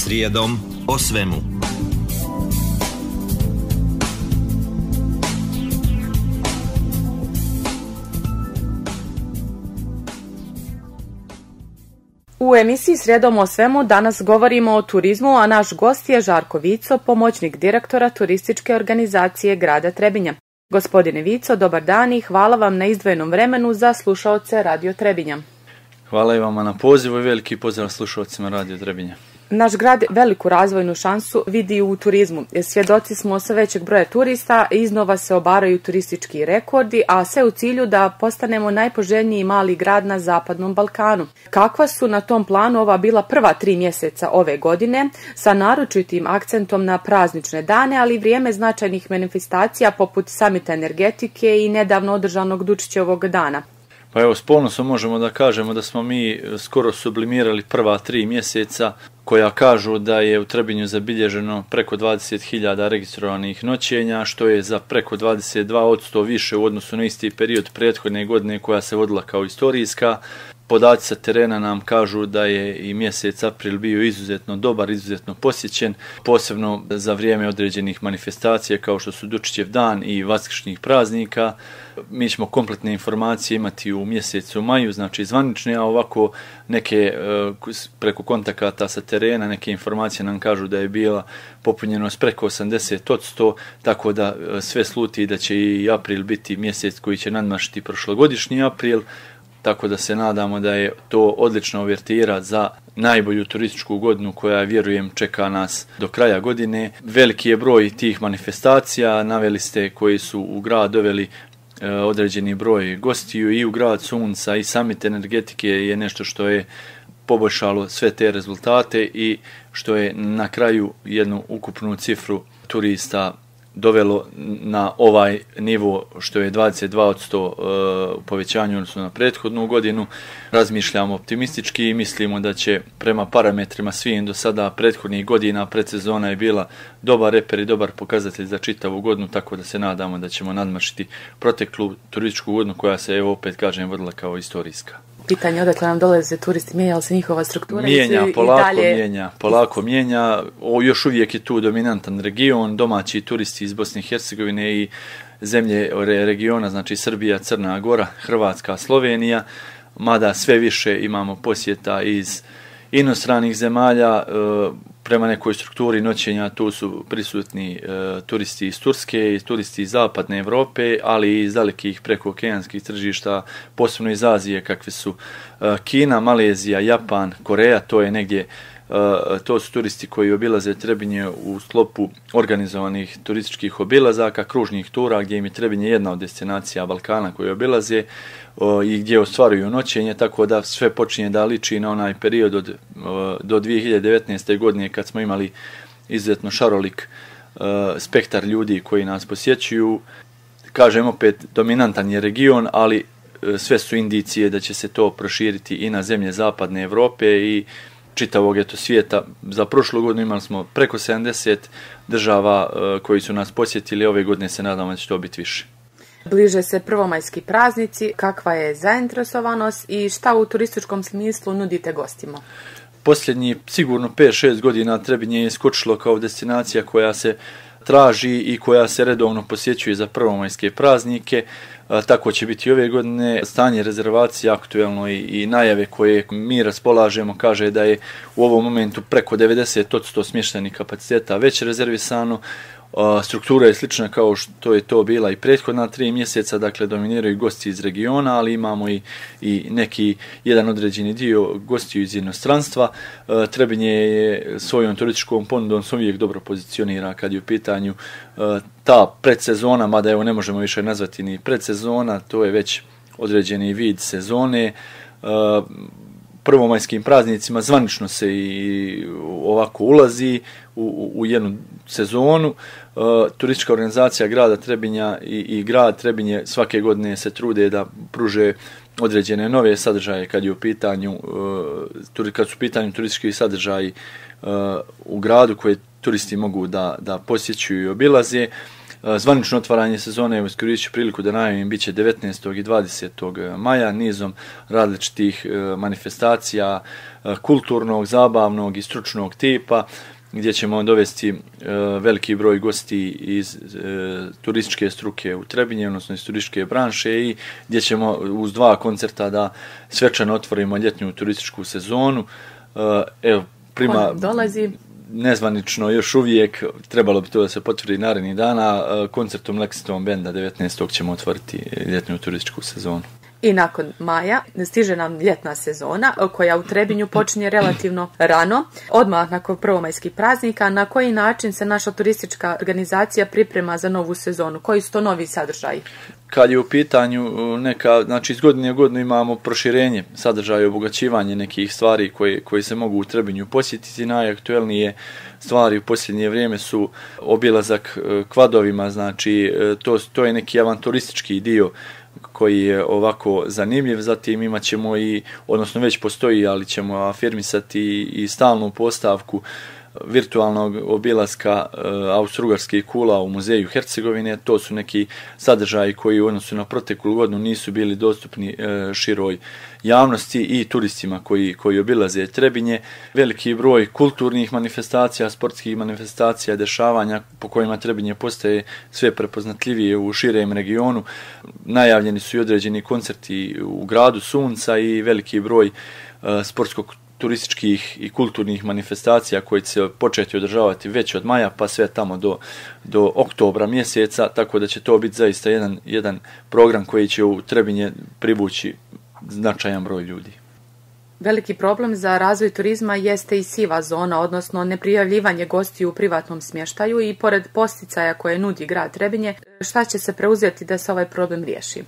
Srijedom o svemu. U emisiji Srijedom o svemu danas govorimo o turizmu, a naš gost je Žarko Vico, pomoćnik direktora turističke organizacije grada Trebinja. Gospodine Vico, dobar dan i hvala vam na izdvojenom vremenu za slušaoce Radio Trebinja. Hvala i vama na pozivu i veliki pozdrav slušaocima Radio Trebinja. Naš grad veliku razvojnu šansu vidi u turizmu. Svjedoci smo sve većeg broja turista, iznova se obaraju turistički rekordi, a sve u cilju da postanemo najpoželjniji mali grad na Zapadnom Balkanu. Kakva su na tom planu ova bila prva 3 mjeseca ove godine, sa naročitim akcentom na praznične dane, ali i vrijeme značajnih manifestacija poput samita energetike i nedavno održanog Dučićevog dana? Pa evo, s ponosom možemo da kažemo da smo mi skoro sublimirali prva 3 mjeseca koja kažu da je u Trebinju zabilježeno preko 20.000 registrovanih noćenja, što je za preko 22% više u odnosu na isti period prethodne godine koja se vodila kao istorijska. Podaci sa terena nam kažu da je i mjesec april bio izuzetno dobar, izuzetno posjećen, posebno za vrijeme određenih manifestacija kao što su Dučićev dan i vaskršnjih praznika. Mi ćemo kompletne informacije imati u mjesecu maju, znači zvanične, a ovako neke preko kontakata sa terena, neke informacije nam kažu da je bila popunjenost preko 80%, tako da sve sluti da će i april biti mjesec koji će nadmašiti prošlogodišnji april. Tako da se nadamo da je to odlična uvertira za najbolju turističku godinu koja, vjerujem, čeka nas do kraja godine. Veliki je broj tih manifestacija, naveli ste, koji su u grad doveli određeni broj gostiju i u grad sunca i samit energetike je nešto što je poboljšalo sve te rezultate i što je na kraju jednu ukupnu cifru turista dovelo na ovaj nivo što je 22% povećanju odnosno na prethodnu godinu. Razmišljamo optimistički i mislimo da će prema parametrima svim do sada prethodnih godina predsezona je bila dobar reper i dobar pokazatelj za čitavu godinu, tako da se nadamo da ćemo nadmašiti proteklu turističku godinu koja se, evo opet kažem, vodila kao istorijska. Pitanje odakle nam dolaze turisti, mijenja li se njihova struktura? Polako mijenja. Još uvijek je tu dominantan region, domaći turisti iz Bosne i Hercegovine i zemlje regiona, znači Srbija, Crna Gora, Hrvatska, Slovenija, mada sve više imamo posjeta iz inostranih zemalja. Prema nekoj strukturi noćenja tu su prisutni turisti iz Turske i turisti iz Zapadne Evrope, ali i iz dalekih prekookeanskih tržišta, posebno iz Azije, kakve su Kina, Malezija, Japan, Koreja. To je negdje, to su turisti koji obilaze Trebinje u sklopu organizovanih turističkih obilazaka, kružnih tura, gdje im je Trebinje jedna od destinacija Balkana koje obilaze i gdje ostvaruju noćenje, tako da sve počinje da liči na onaj period do 2019. godine kad smo imali izuzetno šarolik spektar ljudi koji nas posjećuju. Kažem opet, dominantan je region, ali sve su indicije da će se to proširiti i na zemlje Zapadne Evrope i čitavog svijeta. Za prošlu godinu imali smo preko 70 država koji su nas posjetili, ove godine se nadamo da će to biti više. Bliže se prvomajski praznici, kakva je zainteresovanost i šta u turističkom smislu nudite gostima? Posljednji sigurno 5-6 godina Trebinje je skočilo kao destinacija koja se traži i koja se redovno posjećuje za prvomajske praznike. Tako će biti ove godine. Stanje rezervacije aktuelno i najave koje mi raspolažemo kaže da je u ovom momentu preko 90% smještajnih kapaciteta već rezervisano. Struktura je slična kao što je to bila i prethodna 3 mjeseca, dakle dominiraju gosti iz regiona, ali imamo i neki jedan određeni dio gostiju iz inostranstva. Trebinje je svojom turističkom ponudom se uvijek dobro pozicionira kad je u pitanju ta predsezona, mada evo ne možemo više nazvati ni predsezona, to je već određeni vid sezone. Prvomajskim praznicima zvanično se i ovako ulazi u jednu sezonu. Turistička organizacija grada Trebinja i grad Trebinje svake godine se trude da pruže određene nove sadržaje kad su u pitanju turistički sadržaji u gradu koje turisti mogu da posjećuju i obilaze. Zvanično otvaranje sezone, iskoristit ću priliku da najavim, bit će 19. i 20. maja nizom različitih manifestacija kulturnog, zabavnog i stručnog tipa, gdje ćemo dovesti veliki broj gosti iz turističke struke u Trebinje, odnosno iz turističke branše, i gdje ćemo uz 2 koncerta da svečano otvorimo ljetnju turističku sezonu. Evo, dolazi nezvanično još uvijek, trebalo bi to da se potvrdi narednih dana, koncertom Lexington Benda 19. ćemo otvoriti ljetnju turističku sezonu. I nakon maja stiže nam ljetna sezona koja u Trebinju počinje relativno rano, odmah nakon prvomajskih praznika. Na koji način se naša turistička organizacija priprema za novu sezonu? Koji su to novi sadržaji? Kad je u pitanju znači iz godine u godinu imamo proširenje sadržaja i obogaćivanje nekih stvari koji se mogu u Trebinju posjetiti. Najaktuelnije stvari u posljednje vrijeme su obilazak kvadovima, znači to je neki avanturistički dio koji je ovako zanimljiv. Zatim imat ćemo odnosno već postoji, ali ćemo afirmisati i stalnu postavku virtualnog obilaska Austro-Ugarskih kula u muzeju Hercegovine. To su neki sadržaji koji u odnosu na proteklu godinu nisu bili dostupni široj javnosti i turistima koji obilaze Trebinje. Veliki broj kulturnih manifestacija, sportskih manifestacija, dešavanja po kojima Trebinje postaje sve prepoznatljivije u širem regionu. Najavljeni su i određeni koncerti u gradu Sunca i veliki broj sportsko-turističkih i kulturnih manifestacija koje će se početi održavati već od maja pa sve tamo do oktobra mjeseca, tako da će to biti zaista jedan program koji će u Trebinje privući značajan broj ljudi. Veliki problem za razvoj turizma jeste i siva zona, odnosno neprijavljivanje gostiju u privatnom smještaju, i pored posticaja koje nudi grad Trebinje, šta će se preuzeti da se ovaj problem riješi?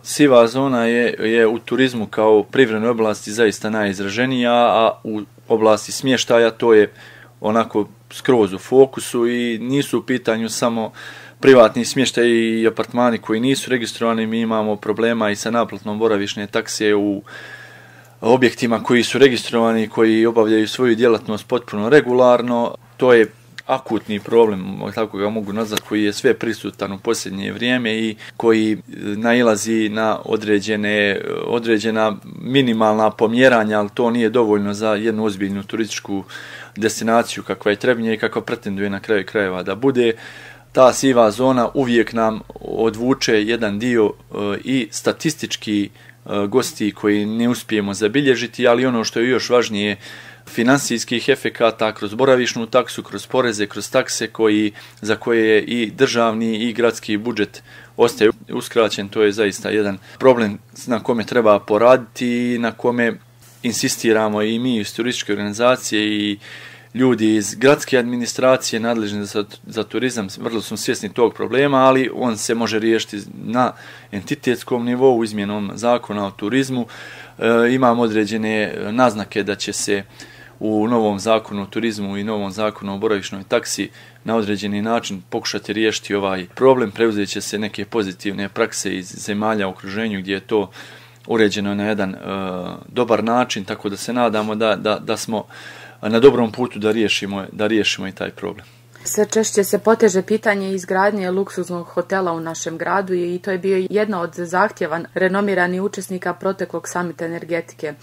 Siva zona je u turizmu kao privrednoj oblasti zaista najizraženija, a u oblasti smještaja to je onako skroz u fokusu i nisu u pitanju samo privatni smještaj i apartmani koji nisu registrovani. Mi imamo problema i sa naplatnom boravišne takse u objektima koji su registrovani, koji obavljaju svoju djelatnost potpuno regularno. To je akutni problem, tako ga mogu nazvati, koji je sve prisutan u posljednje vrijeme i koji nailazi na određena minimalna pomjeranja, ali to nije dovoljno za jednu ozbiljnu turističku destinaciju kakva je Trebinje i kakva pretenduje na kraju krajeva da bude. Ta siva zona uvijek nam odvuče jedan dio i statistički gosti koji ne uspijemo zabilježiti, ali ono što je još važnije, finansijskih efekata kroz boravišnu taksu, kroz poreze, kroz takse za koje je i državni i gradski budžet ostaje uskraćen. To je zaista jedan problem na kome treba poraditi i na kome insistiramo i mi iz turističke organizacije i ljudi iz gradske administracije nadležni za turizam. Vrlo smo svjesni tog problema, ali on se može riješiti na entitetskom nivou izmjenom zakona o turizmu. Imamo određene naznake da će se u novom zakonu o turizmu i novom zakonu o boravišnoj taksi na određeni način pokušati riješiti ovaj problem. Preuzet će se neke pozitivne prakse iz zemalja u okruženju gdje je to uređeno na jedan dobar način, tako da se nadamo da smo na dobrom putu da riješimo i taj problem. Sve češće se poteže pitanje izgradnje luksuznog hotela u našem gradu i to je bio jedna od zahtjeva renomiranih učesnika proteklog samita energetike.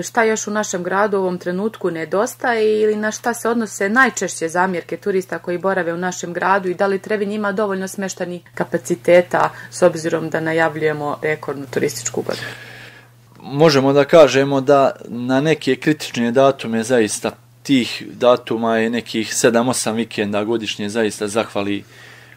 Šta još u našem gradu u ovom trenutku nedostaje ili na šta se odnose najčešće zamjerke turista koji borave u našem gradu i da li Trebinje ima dovoljno smještajnih kapaciteta s obzirom da najavljujemo rekordnu turističku godinu? Možemo da kažemo da na neke kritične datume zaista tih datuma je nekih 7-8 vikenda godišnje zaista zahvali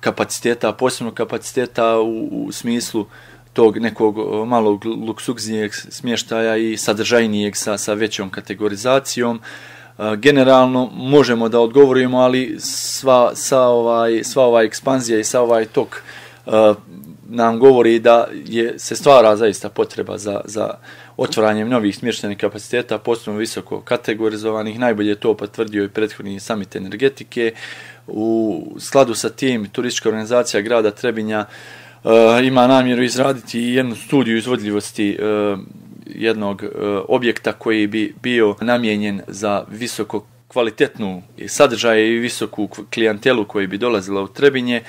kapaciteta, posebno kapaciteta u smislu tog nekog malog luksuznijeg smještaja i sadržajnijeg sa većom kategorizacijom. Generalno možemo da odgovorimo, ali sva ova ekspanzija i sva ovaj tok nam govori da se stvara zaista potreba za otvaranjem novih smještajnih kapaciteta, posebno visoko kategorizovanih. Najbolje je to potvrdio i prethodni samit energetike. U skladu sa tim, turistička organizacija grada Trebinja ima namjeru izraditi jednu studiju izvodljivosti jednog objekta koji bi bio namijenjen za visoko kvalitetnu sadržaje i visoku klijentelu koji bi dolazila u Trebinje.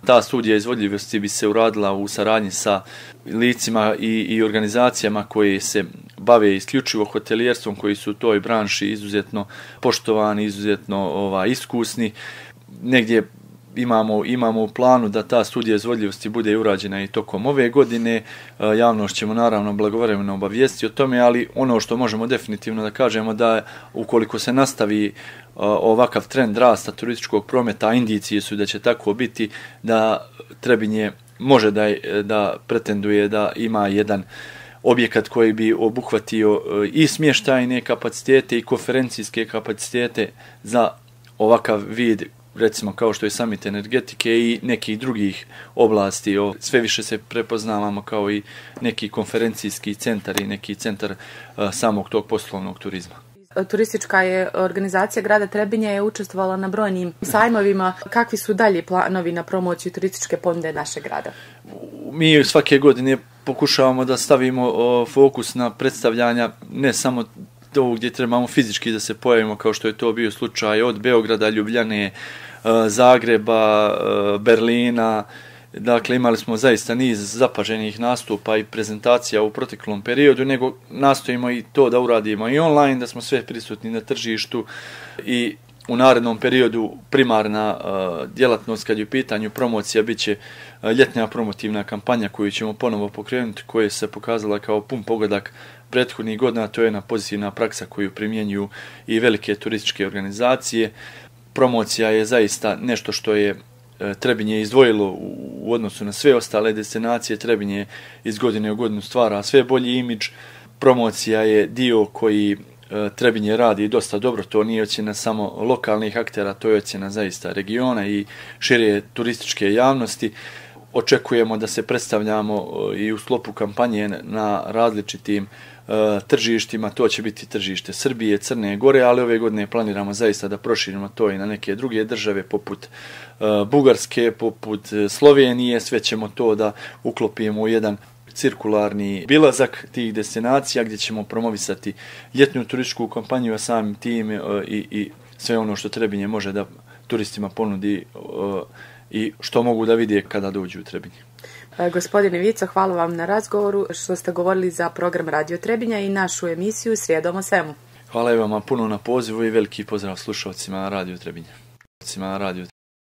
Ta studija izvodljivosti bi se uradila u saradnji sa licima i organizacijama koje se bave isključivo hotelijerstvom, koji su u toj branši izuzetno poštovani, izuzetno iskusni. Negdje imamo u planu da ta studija izvodljivosti bude urađena i tokom ove godine. Javnost ćemo naravno blagovremeno obavijestiti o tome, ali ono što možemo definitivno da kažemo da ukoliko se nastavi ovakav trend rasta turističkog prometa, indicije su da će tako biti, da Trebinje može da pretenduje da ima jedan objekat koji bi obuhvatio i smještajne kapacitete i konferencijske kapacitete za ovakav vid, recimo kao što je summit energetike i nekih drugih oblasti. Sve više se prepoznavamo kao i neki konferencijski centar i neki centar samog tog poslovnog turizma. Turistička je organizacija grada Trebinja je učestvovala na brojnim sajmovima. Kakvi su dalje planovi na promociju turističke ponude našeg grada? Mi svake godine pokušavamo da stavimo fokus na predstavljanja ne samo to gdje trebamo fizički da se pojavimo, kao što je to bio slučaj od Beograda, Ljubljane, Zagreba, Berlina. Dakle, imali smo zaista niz zapaženih nastupa i prezentacija u proteklom periodu, nego nastojimo i to da uradimo i online, da smo sve prisutni na tržištu i u narednom periodu primarna djelatnost kad je u pitanju promocija bit će ljetna promotivna kampanja koju ćemo ponovo pokrenuti, koja se pokazala kao pun pogodak prethodnih godina. To je jedna pozitivna praksa koju primjenjuju i velike turističke organizacije. Promocija je zaista nešto što je Trebinje izdvojilo u odnosu na sve ostale destinacije. Trebinje iz godine u godinu stvara sve bolji imidž. Promocija je dio koji Trebinje radi dosta dobro. To nije ocjena samo lokalnih aktera, to je ocjena zaista regiona i šire turističke javnosti. Očekujemo da se predstavljamo i u sklopu kampanje na različitim tržištima. To će biti tržište Srbije, Crne Gore, ali ove godine planiramo zaista da proširimo to i na neke druge države poput Bugarske, poput Slovenije. Sve ćemo to da uklopimo u jedan cirkularni bilazak tih destinacija gdje ćemo promovisati ljetnu turističku kampanju, a samim tim i sve ono što Trebinje može da turistima ponudi i što mogu da vide kada dođu u Trebinje. Gospodine Vico, hvala vam na razgovoru što ste govorili za program Radio Trebinja i našu emisiju Srijedom o svemu. Hvala i vama puno na pozivu i veliki pozdrav slušalcima Radio Trebinja.